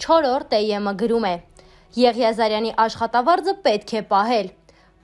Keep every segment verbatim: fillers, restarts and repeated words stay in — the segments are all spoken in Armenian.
Չորրորդ Է Եմ-ը գրում է. Եղիազարյանի աշխատավարձը պետք է պահել։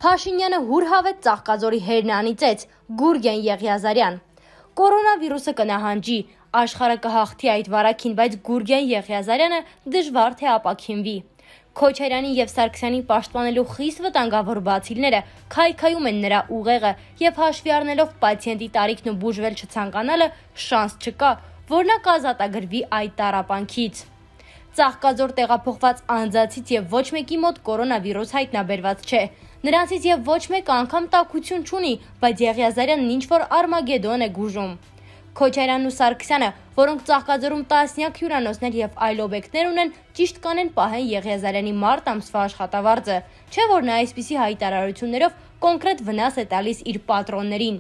Փաշինյանը հուրհավետ Ծաղկաձորի հերն անիծեց, Գուրգեն Եղիազարյան։ Կորոնավիրուսը կնահանջի, աշխարհը կհաղթի այդ վարակին, բայց Գուրգեն Եղիազարյանը դժվար թե ապաքինվի։ Քոչարյանի եւ Սարգսյանի պաշտպանելու խիստ վտանգավոր բացիլները քայքայում են նրա ուղեղը եւ հաշվի առնելով պացիենտի տարիքն ու բուժվել չցանկանալը շանս չկա, որ նա կազատագրվի այդ տառապանքից։ Ծաղկաձոր տեղափոխված անձացից եւ ոչ մեկի մոտ կորոնավիրուս հայտնաբերված չէ։ Նրանցից եւ ոչ մեկը անգամ տաքություն չունի, բայց Եղիազարյանն ինչ-որ Արմագեդոն է գուժում։ Քոչարյանն ու Սարգսյանը, որոնք Ծաղկաձորում տասնյակ հյուրանոցներ եւ այլ օբյեկտներ ունեն, ճիշտ կանեն պահեն Եղիազարյանի մարտ ամսվա աշխատավարձը, չէ՞ որ նա այսպիսի հայտարարություններով կոնկրետ վնաս է տալիս իր պատրոններին։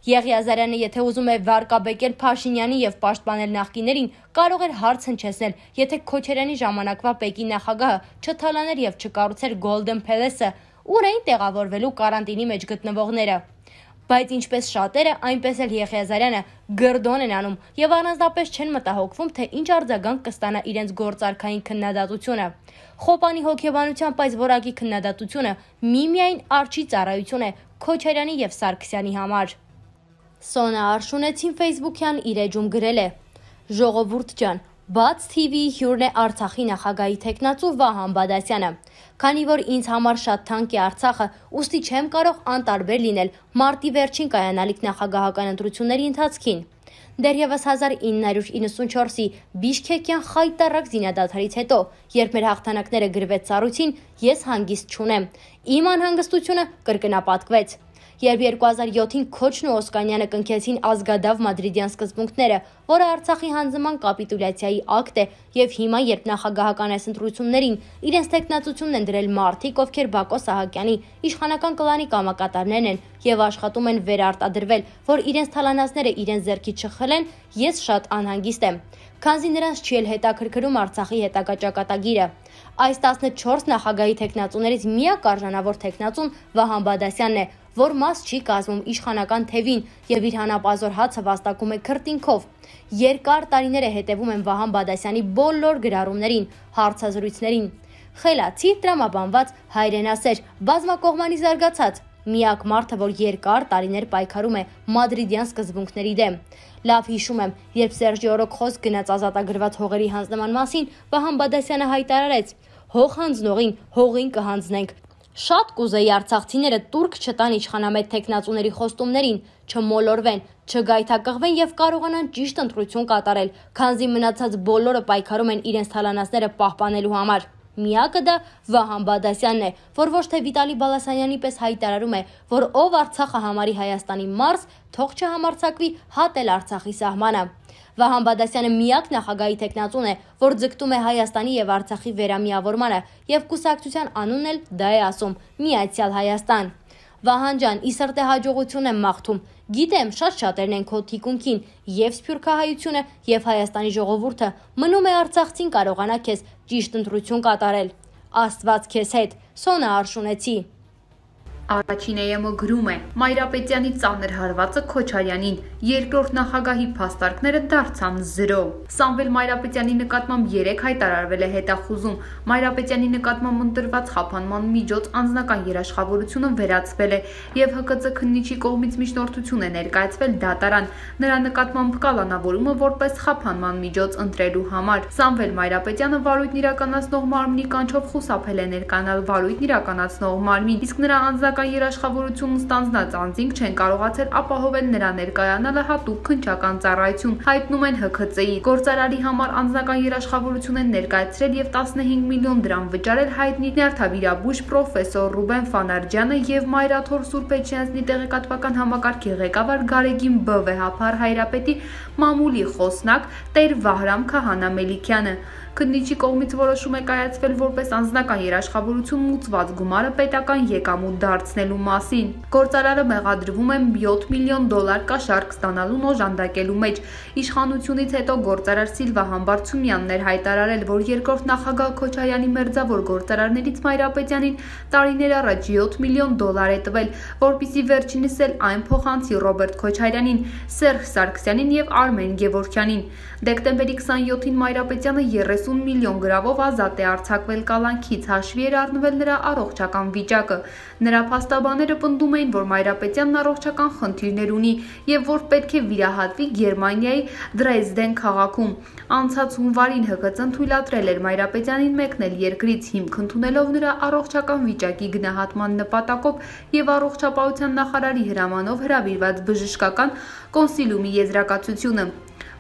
Եղիազարյանը, եթե ուզում է վարկաբեկել Փաշինյանի եւ պաշտպանել նախկիներին, կարող էր հարց հնչեցնել, եթե Քոչարյանի ժամանակվա Պեկի նախագահը չթալաներ եւ չկառուցեր Golden Palace-ը, ուր էին տեղավորվելու կարանտինի մեջ գտնվողները։ Բայց ինչպես շատերը, այնպես էլ Եղիազարյանը գրդոն են անում եւ առանձնապես չեն մտահոգվում, թե ինչ արձագանք կստանա իրենց գործարքային քննադատությունը։ Խոպանի հոգեբանությամբ այս որակի քննադատությունը միմիայն արջի ծառայություն է Քոչարյանի եւ Սարգսյանի համար։ Սոնա Արշունեցին Facebook-յան իր էջում գրել է. Ժողովուրդ ջան, Բաց Թի Վիի հյուրն է Արցախի նախագահի թեկնածու Վահան Բադասյանը։ Քանի որ ինձ համար շատ թանկ է Արցախը, ուստի չեմ կարող անտարբեր լինել մարտի վերջին կայանալիք նախագահական ընտրությունների ընթացքին։ Դեռևս հազար ինը հարյուր իննսունչորսի Բիշքեկյան խայտառակ զինադադարից հետո, երբ մեր հաղթանակները գրվեց ծառույցին, ես հանգիստ չունեմ։ Իմ անհանգստությունը կրկնապատկվեց։ Երբ երկու հազար յոթին Քոչն ու Օսկանյանը կնքեցին ազգադավ մադրիդյան սկզբունքները, որը Արցախի հանձնման կապիտուլյացիայի ակտ է, եւ հիմա, երբ նախագահական այս ընտրություններին իրենց տեխնացությունն են դրել մարդիկ, ովքեր Բակո Սահակյանի իշխանական կլանի կամակատարներն են եւ աշխատում են վերարտադրվել, որ իրենց թալանածները իրենց ձեռքից չխլեն, ես շատ անհանգիստ եմ, քանզի նրանց չի էլ հետաքրքրում Արցախի հետագա ճակատագիրը։ Այս տասնչորս նախագահի թեկնածուներից միակ արժանավոր թեկնածուն Վահան Բադասյանն է, որ մաս չի կազմում իշխանական թևին եւ իր հանապազոր հացը վաստակում է քրտինքով։ Երկար տարիներ է հետևում են Վահան Բադասյանի բոլոր գրառումներին, հարցազրույցներին։ Խելացի, տրամաբանված, հայրենասեր, բազմակողմանի զարգացած, միակ մարդը, որ երկար տարիներ պայքարում է մադրիդյան սկզբունքների դեմ։ Լավ հիշում եմ, երբ Սերժի օրոք խոսք գնաց ազատագրված հողերի հանձնման մասին, Վահան Բադասյանը հայտարարեց. հող հանձնողին հողին կհանձնենք։ Շատ կուզեի արցախցիները տուրք չտան իշխանամետ թեկնածուների խոստումներին, չմոլորվեն, չգայթակղվեն եւ կարողանան ճիշտ ընտրություն կատարել, քանզի մնացած բոլորը պայքարում են իրենց թալանածները պահպանելու համար։ Միակը դա Վահան Բադասյանն է, որ ոչ թե Վիտալի Բալասանյանի պես հայտարարում է, որ ով Արցախը համարի Հայաստանի մարզ, թող չհամարձակվի հատել Արցախի սահմանը։ Վահան Բադասյանը միակ նախագահի թեկնածուն է, որ ձգտում է Հայաստանի եւ Արցախի վերամիավորմանը եւ կուսակցության անունն էլ դա է ասում՝ Միացյալ Հայաստան։ Վահան ջան, ի սրտե հաջողություն եմ մաղթում։ Գիտեմ, շատ շատերն են քո թիկունքին, եւ սփյուռքահայությունը, եւ Հայաստանի ժողովուրդը, մնում է արցախցին կարողանա քեզ ճիշտ ընտրություն կատարել։ Աստված քեզ հետ։ Սոնա Արշունեցի։ Առաջին Է Եմ-ը գրում է. Մայրապետյանի ծանր հարվածը Քոչարյանին, երկրորդ նախագահի փաստարկները դարձան զրո։ Սամվել Մայրապետյանի նկատմամբ երեք հայտարարվել է հետախուզում։ Մայրապետյանի նկատմամբ ընտրված խափանման միջոց անձնական երաշխավորությունը վերացվել է եւ Հ Կ Ծ քննիչի կողմից միջնորդություն է ներկայացվել դատարան նրա նկատմամբ կալանավորումը որպես խափանման միջոց ընտրելու համար։ Սամվել Մայրապետյանը վարույթն իրականացնող մարմնի կանչով խուսափել է ներկանալ վարույթն իրականացնող մարմին, իսկ նրա անձնական երաշխավորությունն ստանձնած անձինք չեն կարողացել ապահովել նրա ներկայանալը հատուկ քննչական ծառայություն, հայտնում են Հ Ք Ծ-ի։ Գործարարի համար անձնական երաշխավորություն են ներկայացրել եւ տասնհինգ միլիոն դրամ վճարել հայտնի նյարդավիրաբույժ պրոֆեսոր Ռուբեն Ֆանարջյանը եւ Մայրաթոր Սուրբ Էջմիածնի տեղեկատվական համակարգի ղեկավար Գարեգին Բ Վեհափար Հայրապետի մամուլի խոսնակ Տեր Վահրամ Քահանա Մելիքյանը։ Քննիչի կողմից որոշում է կայացվել որպես անձնական երաշխավորություն մուծված գումարը պետական եկամուտ դարձնելու մասին։ Գործարարը մեղադրվում է յոթ միլիոն դոլար կաշառք ստանալուն օժանդակելու մեջ։ Իշխանությունից հետո գործարար Սիլվա Համբարձումյանն էր հայտարարել, որ երկրորդ նախագահ Քոչարյանի մերձավոր գործարարներից Մայրապետյանին տարիներ առաջ յոթ միլիոն դոլար է տվել, որպեսզի վերջինս էլ այն փոխանցի Ռոբերտ Քոչարյանին, Սերժ Սարգսյանին եւ Արմեն Գևորգյանին։ Դեկտեմբերի քսանյոթին Մայրապետյանը երես երեսուն միլիոն գրավով ազատ է արձակվել կալանքից, հաշվի էր առնվել նրա առողջական վիճակը։ Նրա փաստաբանները պնդում էին, որ Մայրապետյանն առողջական խնդիրներ ունի եւ որ պետք է վիրահատվի Գերմանիայի Դրեզդեն քաղաքում։ Անցած հունվարին Հ K C-ն թույլատրել էր Մայրապետյանին մեկնել երկրից, հիմք ընդունելով նրա առողջական վիճակի գնահատման նպատակով եւ առողջապահության նախարարի հրամանով հրավիրված բժշկական կոնսիլիումի եզրակացությունը։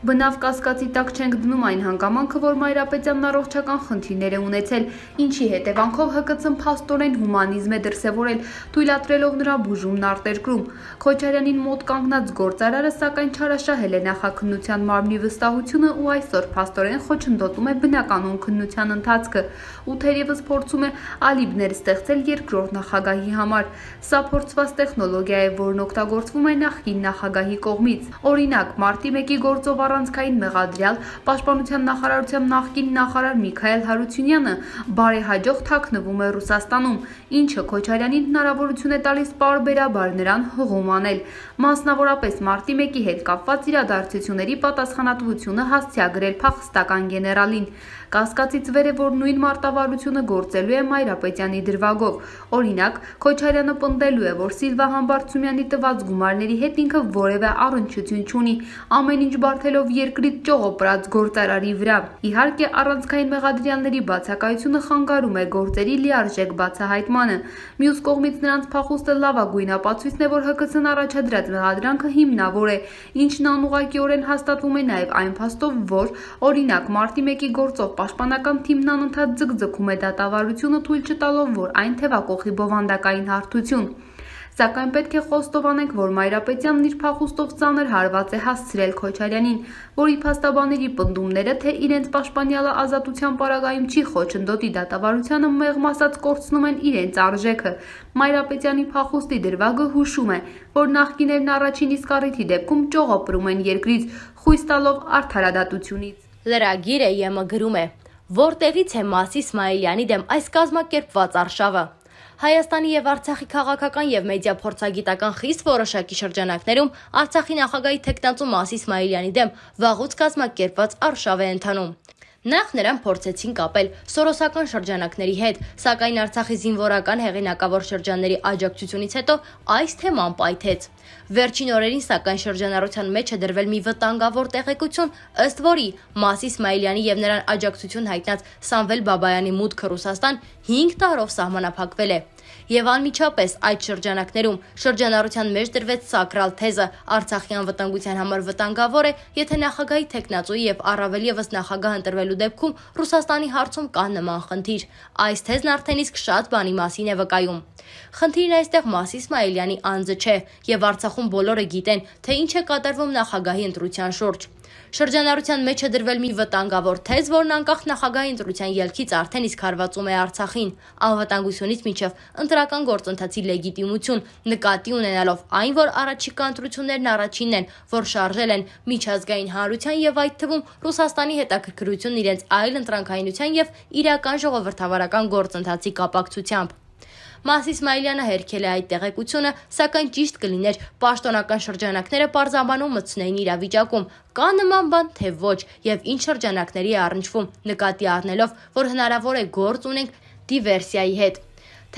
Բնավ կասկածի տակ չենք դնում այն հանգամանքը, որ Մայրապետյանն առողջական խնդիրներ է ունեցել, ինչի հետևանքով Հ K C-ն փաստորեն հումանիզմ է դրսևորել, թույլատրելով նրա բուժումն արտերկրում։ Քոչարյանին մոտ կանգնած գործարարը սակայն չարաշահել է նախաքննության մարմնի վստահությունը ու այսօր փաստորեն խոչընդոտում է բնականon քննության ընթացքը ու թերևս փորձում է ալիբներ ստեղծել երկրորդ նախագահի համար։ Սա փորձված տեխնոլոգիա է, որն օգտագործվում է նախկին նախագահի կողմից։ Օրինակ, մարտի մեկի գործով առանցքային մեղադրյալ Պաշտպանության նախարարության նախկին նախարար Միքայել Հարությունյանը բարեհաջող թաքնվում է Ռուսաստանում, ինչը Քոչարյանին հնարավորություն է տալիս պարբերաբար նրան հղում անել, մասնավորապես մարտի մեկի հետ կապված իրադարձությունների պատասխանատվությունը հասցեագրել փախստական գեներալին։ Կասկածից վեր է, որ նույն մարտավարությունը գործելու է Մայրապետյանի դրվագով։ Օրինակ, Քոչարյանը պնդելու է, որ Սիլվա Համբարձումյանի տված գումարների հետ ինքը որևէ առնչություն չունի, ամեն ինչ բարթելով երկրից ճողոպրած գործարարի վրա։ Իհարկե, առանցքային մեղադրյալների բացակայությունը խանգարում է գործերի լիարժեք բացահայտմանը։ Մյուս կողմից նրանց փախուստը լավագույն ապացույցն է, որ Հ K C-ն առաջադրած մեղադրանքը հիմնավոր է, ինչն անուղղակիորեն հաստատվում է նաև այն փաստով, որ, օրինակ, մարտի մեկի գործով Պաշտպանական թիմն անընդհատ ձգձգում է դատավարությունը, թույլ չտալով, որ այն թևակողի բովանդակային հարթություն։ Սակայն պետք է խոստովանենք, որ Մայրապետյանն իր փախուստով ծանր հարված է հասցրել Քոչարյանին, որի փաստաբանների պնդումները, թե իրենց պաշտպանյալը ազատության պարագայում չի խոչընդոտի դատավարությանը, մեղմ ասած կորցնում են իրենց արժեքը։ Մայրապետյանի փախուստի դրվագը հուշում է, որ նախկիներն առաջին իսկ առիթի դեպքում ճողոպրում են երկրից, խույս տալով արդարադատությունից։ Լրագիրը ԵՄ գրում է. Որտեղից է Մաս Իսմայելյանի դեմ այս կազմակերպված արշավը։ Հայաստանի եւ Արցախի քաղաքական եւ մեդիա փորձագիտական խիստ որոշակի շրջանակներում Արցախի նախագահի թեկնածու Մաս Իսմայելյանի դեմ վաղուց կազմակերպված արշավ է ընթանում։ Նախ նրան փորձեցին կապել սորոսական շրջանակների հետ, սակայն Արցախի զինվորական հեղինակավոր շրջանների աջակցությունից հետո այս թեման պայթեց։ Վերջին օրերին սակայն շրջանառության մեջ է դրվել մի վտանգավոր տեղեկություն, ըստ որի Մաս Իսմայելյանի եւ նրան աջակցություն հայտնած Սամվել Բաբայանի մուտքը Ռուսաստան հինգ տարով սահմանափակվել է։ Եվ անմիջապես այդ շրջանակներում շրջանառության մեջ դրվեց սակրալ թեզը Արցախի անվտանգության համար վտանգավոր է, եթե նախագահի թեկնածուի եւ առավել եւս նախագահ ընտրվելու դեպքում Ռուսաստանի հարցում կա նման խնդիր։ Այս թեզն արդեն իսկ շատ բանի մասին է վկայում։ Խնդիրն այստեղ Մաս Իսմայելյանի անձը չէ, եւ Արցախում բոլորը գիտեն, թե ինչ է կատարվում նախագահի ընտրության շուրջ։ Շրջանառության մեջ է դրվել մի վտանգավոր թեզ, որն անկախ նախագահի ընտրության ելքից արդեն իսկ հարվածում է Արցախին, անվտանգությունից մինչև ընտրական գործընթացի լեգիտիմություն, նկատի ունենալով այն, որ առաջիկա ընտրություններն առաջինն են, որ շարժել են միջազգային հանրության եւ այդ թվում Ռուսաստանի հետաքրքրությունն իրենց այլ ընտրանքայինության եւ իրական ժողովրդավարական գործընթացի կապակցությամբ։ Մաս Իսմայելյանը հերքել է այդ տեղեկությունը, սակայն ճիշտ կլիներ պաշտոնական շրջանակները պարզաբանում մտցնեին իրավիճակում, կա նման բան, թե ոչ, եւ ինչ շրջանակների է առնչվում, նկատի առնելով, որ հնարավոր է գործ ունենք դիվերսիայի հետ։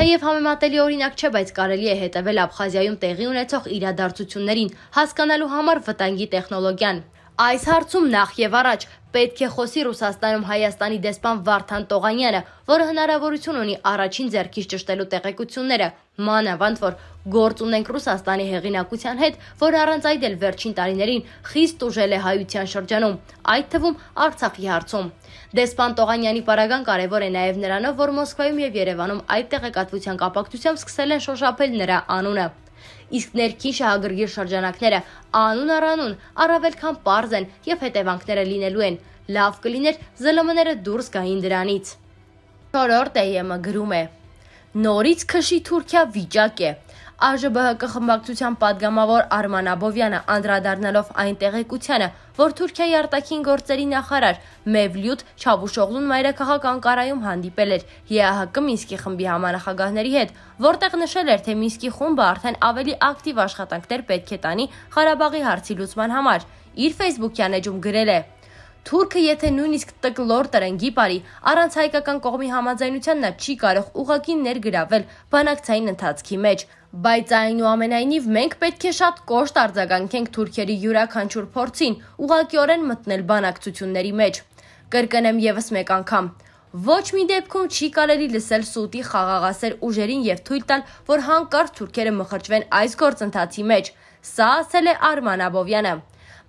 Թեև համեմատելի օրինակ չէ, բայց կարելի է հետևել Աբխազիայում տեղի ունեցող իրադարձություններին, հասկանալու համար վտանգի տեխնոլոգիան։ Այս հարցում նախ եւ առաջ պետք է խոսի Ռուսաստանում Հայաստանի դեսպան Վարդան Տողանյանը, որը հնարավորություն ունի առաջին ձեռքից ճշտելու տեղեկությունները, մանավանդ որ գործ ունենք Ռուսաստանի հեղինակության հետ, որ առանց այդ էլ վերջին տարիներին խիստ ուժել է հայության շրջանում, այդ թվում Արցախի հարցում։ Դեսպան Տողանյանի պարագան կարևոր է նաև նրանով, որ Մոսկվայում եւ Երևանում այդ տեղեկատվության կապակցությամբ սկսել են շոշափել նրա անունը։ Իսկ ներքին շահագրգիռ շրջանակները անուն առանուն առավել քան պարզ են եւ հետևանքները լինելու են։ Լավ կլիներ Զ Л Մ-ները դուրս գային դրանից։ Չորրորդ Է Ե Մ գրում է. Նորից քշի Թուրքիա վիճակ է։ Ա Ժ B Հ Կ խմբակցության падգամավոր Արման Աբովյանը անդրադառնալով այն տեղեկությանը, որ Թուրքիայի արտաքին գործերի նախարար Մևլյուտ Չավուշօղլուն մայրաքաղաք Անկարայում հանդիպել էր Ե Ա Հ Կ Մինսկի խմբի համանախագահների հետ, որտեղ նշել էր, թե Մինսկի խումբը արդեն ավելի ակտիվ աշխատանքներ պետք է տանի Ղարաբաղի հարցի լուծման համար, իր ֆեյսբուքյան էջում գրել է. Թուրքը եթե նույնիսկ տկլոր տրենգի բարի, առանց հայկական կողմի համաձայնության նա չի կարող ուղղակի ներգրավել բանակցային ընթացքի մեջ, բայց այնուամենայնիվ մենք պետք է շատ կոշտ արձագանքենք թուրքերի յուրաքանչյուր փորձին ուղղակիորեն մտնել բանակցությունների մեջ։ Կրկնեմ ևս մեկ անգամ. ոչ մի դեպքում չի կարելի լսել սուտի խաղաղասեր ուժերին եւ թույլ տալ, որ հանկարծ թուրքերը մխրճվեն այս գործընթացի մեջ։ Սա ասել է Արման Աբովյանը։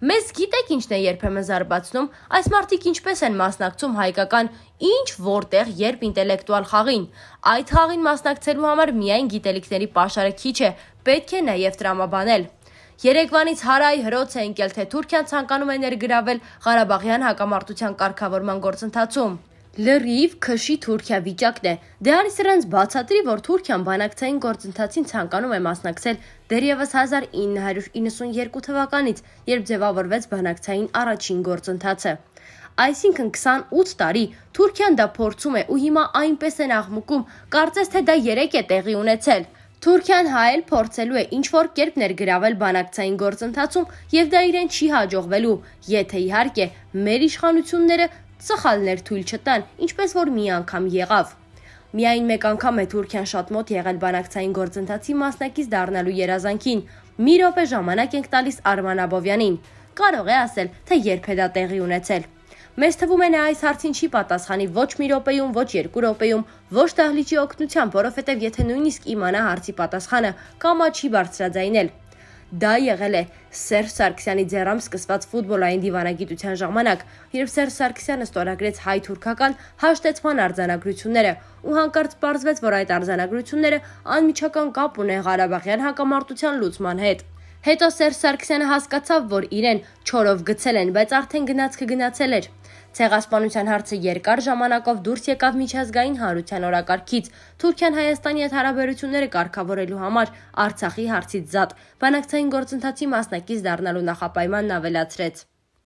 Մեզ գիտեք ինչն է երբեմն զարմացնում, այս մարդիկ ինչպես են մասնակցում հայկական ինչ որտեղ երբ ինտելեկտուալ խաղին։ Այդ խաղին մասնակցելու համար միայն գիտելիքների պաշարը քիչ է, պետք է նաև տրամաբանել։ Երեկվանից հարայ հրոց է ընկել, թե Թուրքիան ցանկանում է ներգրավել Ղարաբաղյան հակամարտության կարգավորման գործընթացում։ Լրիվ քշի Թուրքիա վիճակն է։ Դե արի սրանց բացատրի, որ Թուրքիան բանակցային գործընթացին ցանկանում է մասնակցել դեռևս հազար ինը հարյուր իննսունյերկու թվականից, երբ ձևավորվեց բանակցային առաջին գործընթացը։ Այսինքն քսանութ տարի Թուրքիան դա փորձում է ու հիմա այնպես են աղմուկում, կարծես թե դա երեք է տեղի ունեցել։ Թուրքիան հայել փորձելու է ինչ-որ կերպ ներգրավել բանակցային գործընթացում եւ դա իրեն չի հաջողվելու, եթե իհարկե մեր իշխանությունները սխալներ թույլ չտան, ինչպես որ մի անգամ եղավ։ Միայն մեկ անգամ է Թուրքիան շատ մոտ եղել բանակցային գործընթացի մասնակից դառնալու երազանքին։ Մի րոպե ժամանակ ենք տալիս Արման Աբովյանին։ Կարող է ասել, թե երբ է դա տեղի ունեցել։ Մեզ թվում է նա այս հարցին չի պատասխանի ոչ մի րոպեում, ոչ երկու րոպեում, ոչ դահլիճի օգնությամբ, որովհետև եթե նույնիսկ իմանա հարցի պատասխանը, կամա չի բարձրաձայնել։ Դա եղել է Սերժ Սարգսյանի ձեռամբ սկսված ֆուտբոլային դիվանագիտության ժամանակ, երբ Սերժ Սարգսյանը ստորագրեց հայ-թուրքական հաշտեցման արձանագրությունները, ու հանկարծ պարզվեց, որ այդ արձանագրությունները անմիջական կապ ունեն Ղարաբաղյան հակամարտության լուծման հետ։ Հետո Սերժ Սարգսյանը հասկացավ, որ իրեն չորով գցել են, բայց արդեն գնացքը գնացել էր։ Ցեղասպանության հարցը երկար ժամանակով դուրս եկավ միջազգային հանրության օրակարգից։ Թուրքիան Հայաստանի հետ հարաբերությունները կարգավորելու համար Արցախի հարցից զատ բանակցային գործընթացի մասնակից դառնալու նախապայմանն ավելացրեց։